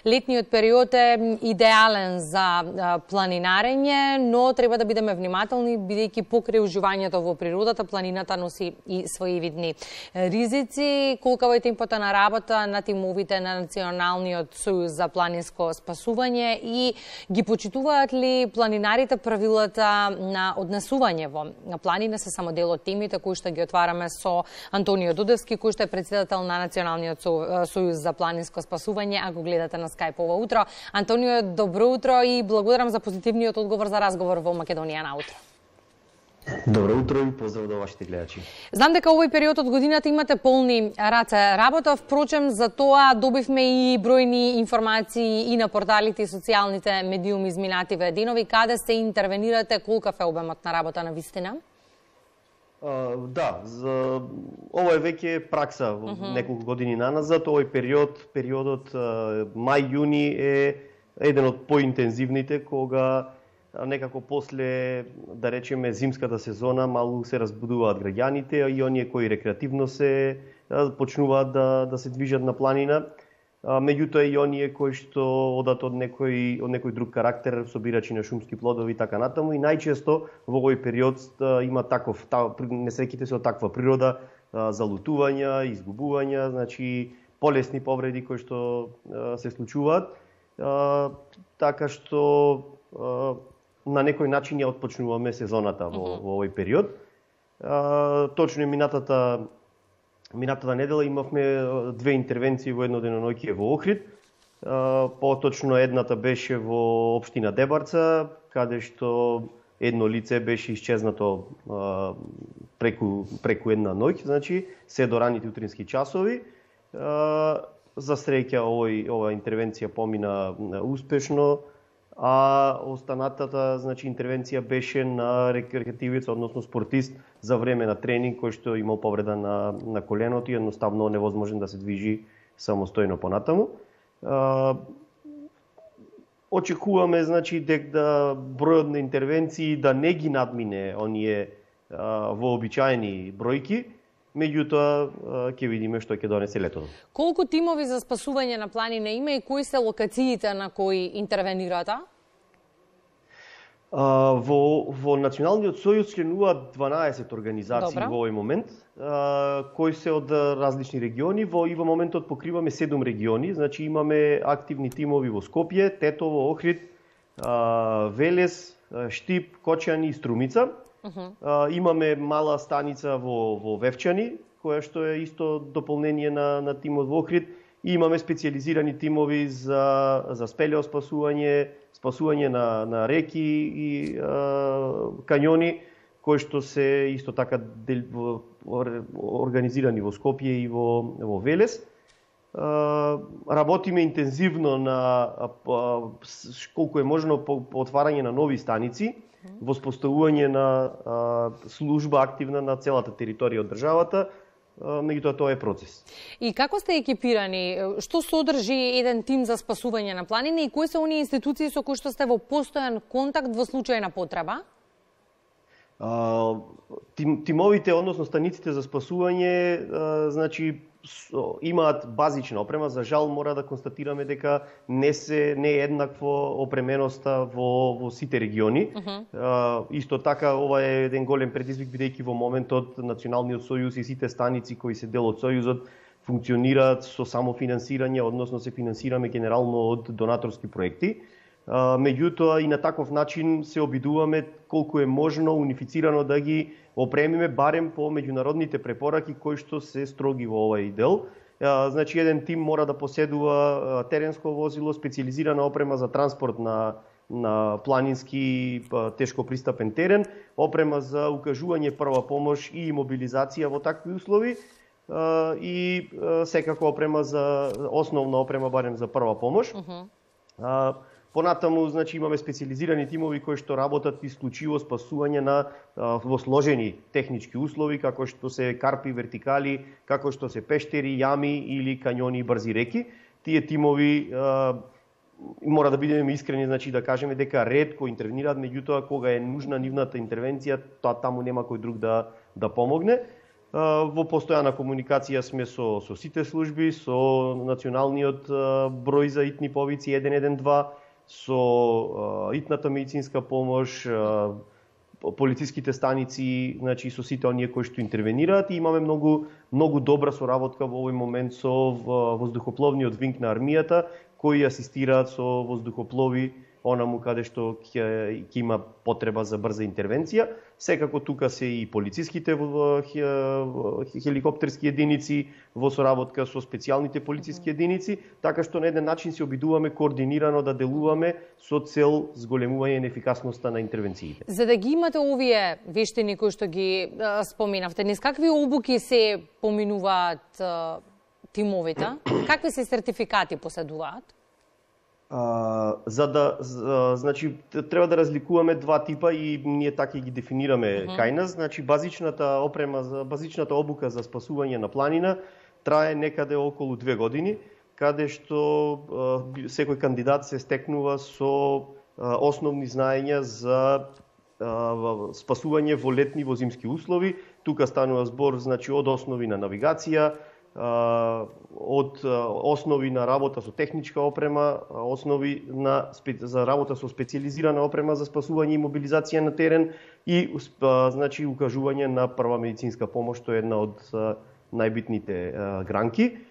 Летниот период е идеален за планинарење, но треба да бидеме внимателни, бидејќи покрај уживањето во природата, планината носи и своји видни ризици. Колкава е темпото на работа на тимовите на Националниот сојуз за планинско спасување и ги почитуваат ли планинарите правилата на однесување во планина? Се само дел од темите кои што ги отвараме со Антонио Дудевски, кој што е претседател на Националниот сојуз за планинско спасување, а го гледате на Скайп ова утро. Антонио, добро утро и благодарам за позитивниот одговор за разговор во Македонија на утро. Добро утро и поздрав до вашите гледачи. Знам дека овој период од годината имате полни раце работа, впрочем за тоа добивме и бројни информации и на порталите и социјалните медиуми изминативе денови. Каде се интервенирате, колкав е обемот на работа на вистина? Да, ова е веќе пракса неколку години наназад. Овој периодот мај-јуни е еден од поинтензивните, кога некако после, да речеме, зимската сезона малку се разбудуваат граѓаните и оние кои рекреативно се почнуваат да се движат на планина. Меѓутоа и оние кои што одат од некој друг карактер, собирачи на шумски плодови и така натаму, и најчесто во овој период има несреќите се од таква природа, залутувања, изгубувања, значи полесни повреди кои што се случуваат, така што на некој начин ја отпочнуваме сезоната во овој период. Точно минатата недела имавме две интервенции во едно деноноќие во Охрид. Поточно едната беше во општина Дебарца, каде што едно лице беше исчезнато преку една ноќ, значи се до раните утрински часови. За среќа ова интервенција помина успешно, а останатата интервенција беше на рекреативец, односно спортист за време на тренинг кој што имал повреда на коленото и едноставно невозможен да се движи самостојно понатаму. Очекуваме дека бројот на интервенции да не ги надмине оние вообичаени бројки, меѓутоа ќе видиме што ќе донесе летото. Колку тимови за спасување на планина има и кои се локациите на кои интервенирате? Во Националниот сојуз членуваат 12 организации во овој момент, кои се од различни региони. И во моментот покриваме 7 региони, значи имаме активни тимови во Скопје, Тетово, Охрид, Велес, Штип, Кочани и Струмица. Имаме мала станица во Вевчани, која што е исто дополнение на тимот во Охрид, и имаме специјализирани тимови за спасување на реки и кањони, кои што се исто така организирани во Скопје и во Велес. Работиме интензивно на колку е можно по отварање на нови станици, воспоставување на служба активна на целата територија од државата, меѓутоа тоа е процес. И како сте екипирани? Што содржи еден тим за спасување на планина и кои се оние институции со кои што сте во постојан контакт во случај на потреба? Тимовите, односно станиците за спасување, значи имаат базична опрема. За жал мора да констатираме дека не е еднакво опременоста во сите региони. Исто така ова е еден голем предизвик, бидејќи во моментот Националниот сојуз и сите станици кои се дел од сојузот функционираат со самофинансирање, односно се финансираме генерално од донаторски проекти. Меѓутоа и на таков начин се обидуваме колку е можно унифицирано да ги опремиме барем по меѓународните препораки кои што се строги во овој дел. Значи еден тим мора да поседува теренско возило, специјализирана опрема за транспорт на планински тешко пристапен терен, опрема за укажување прва помош и мобилизација во такви услови и секако основна опрема барем за прва помош. Понатаму, значи, имаме специјализирани тимови кои што работат исклучиво спасување во сложени технички услови, како што се карпи, вертикали, како што се пештери, јами или кањони и брзи реки. Тие тимови мора да бидеме искрени, значи да кажеме дека ретко интервенираат, меѓутоа кога е нужна нивната интервенција, таму нема кој друг да помогне. Во постојана комуникација сме со сите служби, со националниот број за итни повици 112, со итната медицинска помош, полициските станици, значи со сите оние кои што интервенираат, и имаме многу добра соработка во овој момент со воздухопловниот винг на армијата, кои асистираат со воздухоплови онаму каде што ќе има потреба за брза интервенција. Секако тука се и полициските хеликоптерски единици во соработка со специјалните полициски единици, така што на еден начин се обидуваме координирано да делуваме со цел зголемување на ефикасноста на интервенциите. За да ги имате овие вештини кои што ги споминавте, низ какви обуки се поминуваат тимовите? Какви се сертификати поседуваат? Значи треба да разликуваме два типа и ние така ги дефинираме кај нас. Значи базичната обука за спасување на планина трае некаде околу 2 години, каде што секој кандидат се стекнува со основни знаења за спасување во летни, во зимски услови. Тука станува збор, значи, од основи на навигација, од основи на работа со техничка опрема, основи за работа со специјализирана опрема за спасување и мобилизација на терен и значи укажување на прва медицинска помош, што е една од најбитните гранки.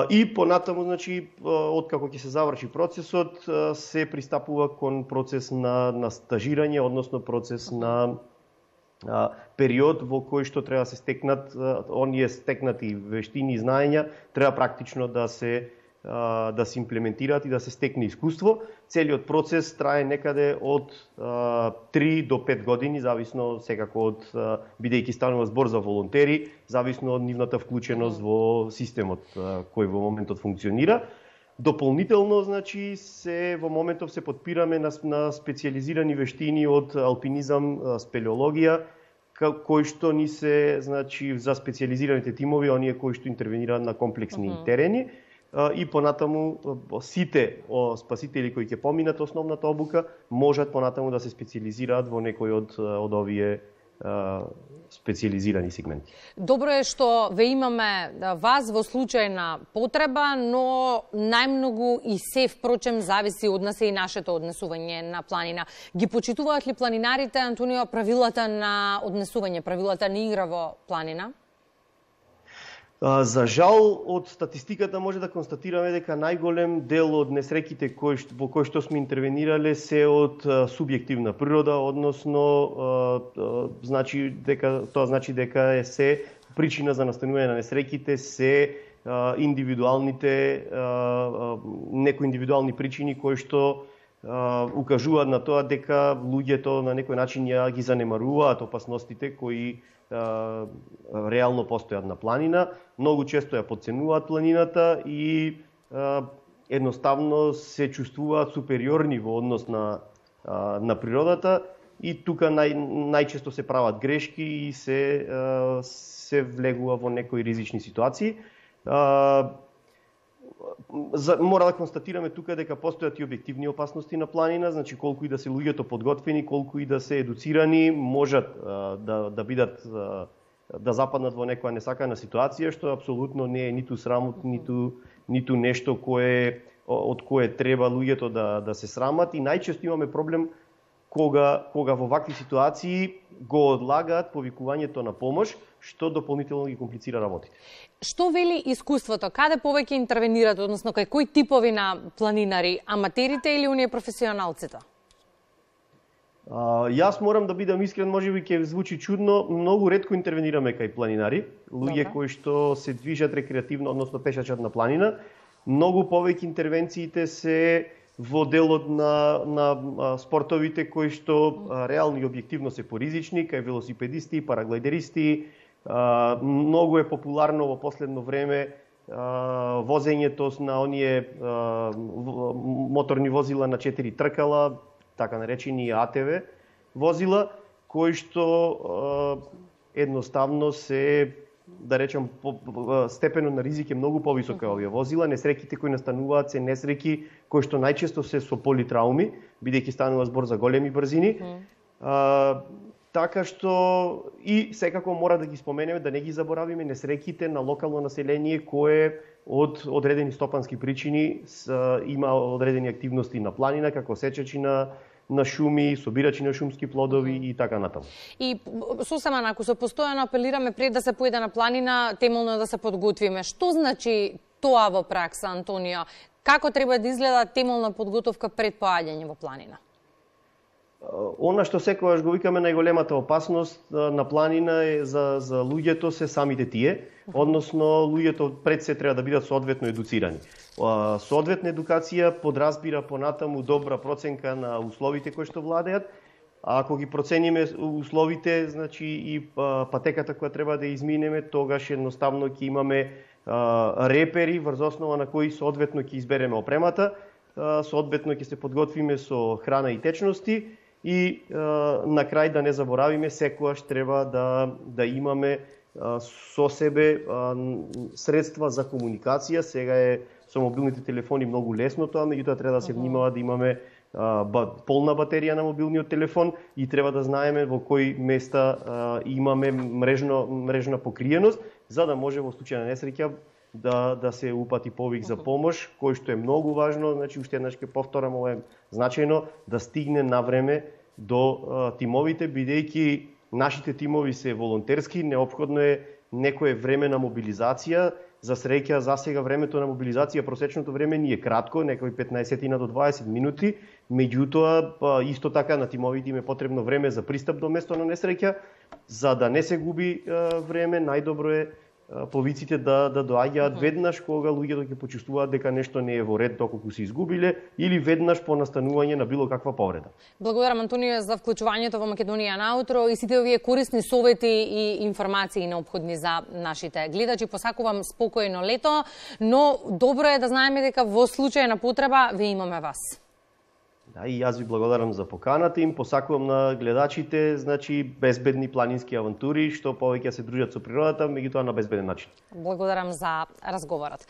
И понатаму, значи, откако ќе се заврши процесот, се пристапува кон процес на стажирање, односно процес на период во кој што треба да се стекнат оние стекнати вештини и знаења, треба практично да се имплементираат и да се стекне искуство. Целиот процес трае некаде од 3 до 5 години, зависно секако од, бидејќи станува збор за волонтери, зависно од нивната вклученост во системот кој во моментот функционира. Дополнително, значи, во моментов се подпираме на специјализирани вештини од алпинизам, спелеологија, кои што ни се, значи, за специјализираните тимови, оние кои што интервенираат на комплексни терени, и понатаму сите спасители кои ќе поминат основната обука можат понатаму да се специјализираат во некој од овие специјализирани сегменти. Добро е што ве имаме вас во случај на потреба, но најмногу и се впрочем зависи од нас и нашето однесување на планина. Ги почитуваат ли планинарите, Антонио, правилата на однесување, правилата на игра во планина? За жал, од статистиката може да констатираме дека најголем дел од несреќите во кои што сме интервенирале се од субјективна природа, односно тоа значи дека се причина за настанување на несреќите се некои индивидуални причини кои што укажуваат на тоа дека луѓето на некој начин ја ги занемаруваат опасностите кои реално постојат на планина, многу често ја подценуваат планината и едноставно се чувствуваат супериорни во однос на природата, и тука најчесто се прават грешки и се влегува во некои ризични ситуации. Мора да констатираме тука дека постојат и објективни опасности на планина, значи колку и да се луѓето подготвени, колку и да се едуцирани, можат да бидат да западнат во некоја несакана ситуација, што апсолутно не е ниту срамот, ниту нешто од кое треба луѓето да се срамат, и најчесто имаме проблем кога во вакви ситуации го одлагаат повикувањето на помош, што дополнително ги комплицира работите. Што вели искуството? Каде повеќе интервенираат, односно кај кои типови на планинари, аматерите или оние професионалците? Јас морам да бидам искрен, можеби ќе звучи чудно, многу ретко интервенираме кај планинари, луѓе кои што се движат рекреативно, односно пешачат на планина. Многу повеќе интервенциите се во делот на спортовите кои што реално и објективно се поризични, кај велосипедисти, параглайдеристи. Многу е популарно во последно време возењето на оние моторни возила на 4 тркала, така наречени АТВ возила, кои што едноставно се, да речем, степенот на ризик е многу повисок овие возила. Несреќите кои настануваат се несреќи кои што најчесто се со политрауми, бидејќи станува збор за големи брзини. Така што и секако мора да ги споменеме, да не ги заборавиме несреќите на локално население кое од одредени стопански причини има одредени активности на планина, како сечачи на шуми, собирачи на шумски плодови и така натаму. И сосема накусо, постојано апелираме пред да се поеде на планина, темелно да се подготвиме. Што значи тоа во пракса, Антонио? Како треба да изгледа темелна подготовка пред поаѓање во планина? Она што секогаш го викаме најголемата опасност на планина е за луѓето се самите тие, односно луѓето пред се треба да бидат соодветно едуцирани. Соодветна едукација подразбира понатаму добра проценка на условите кои што владеат. Ако ги процениме условите, значи и патеката која треба да изминеме, тогаш едноставно ќе имаме репери врз основа на кои соодветно ќе избереме опремата, соодветно ќе се подготвиме со храна и течности и на крај да не заборавиме, секогаш треба да имаме со себе средства за комуникација. Сега е со мобилните телефони многу лесно тоа, меѓутоа треба да се внимава да имаме полна батерија на мобилниот телефон и треба да знаеме во кои места имаме мрежна покриеност, за да може во случај на несреќа да се упати повик за помош, кој што е многу важно. Значи, уште еднаш ќе повторам, ова е значајно да стигне на време до тимовите, бидејќи нашите тимови се волонтерски, неопходно е некое време на мобилизација. За среќа, за сега времето на мобилизација, просечното време ни е кратко, некои 15 до 20 минути, меѓутоа исто така на тимовите им е потребно време за пристап до место на несреќа. За да не се губи време, најдобро е повиците да доаѓаат веднаш кога луѓето ќе почувствуваат дека нешто не е во ред доколку се изгубиле или веднаш по настанување на било каква повреда. Благодарам, Антонио, за вклучувањето во Македонија наутро и сите овие корисни совети и информации неопходни за нашите гледачи. Посакувам спокојно лето, но добро е да знаеме дека во случај на потреба ве имаме вас. Да, и јас ви благодарам за поканата им. Посакувам на гледачите, значи, безбедни планински авантури, што повеќе се дружат со природата, меѓутоа на безбеден начин. Благодарам за разговорот.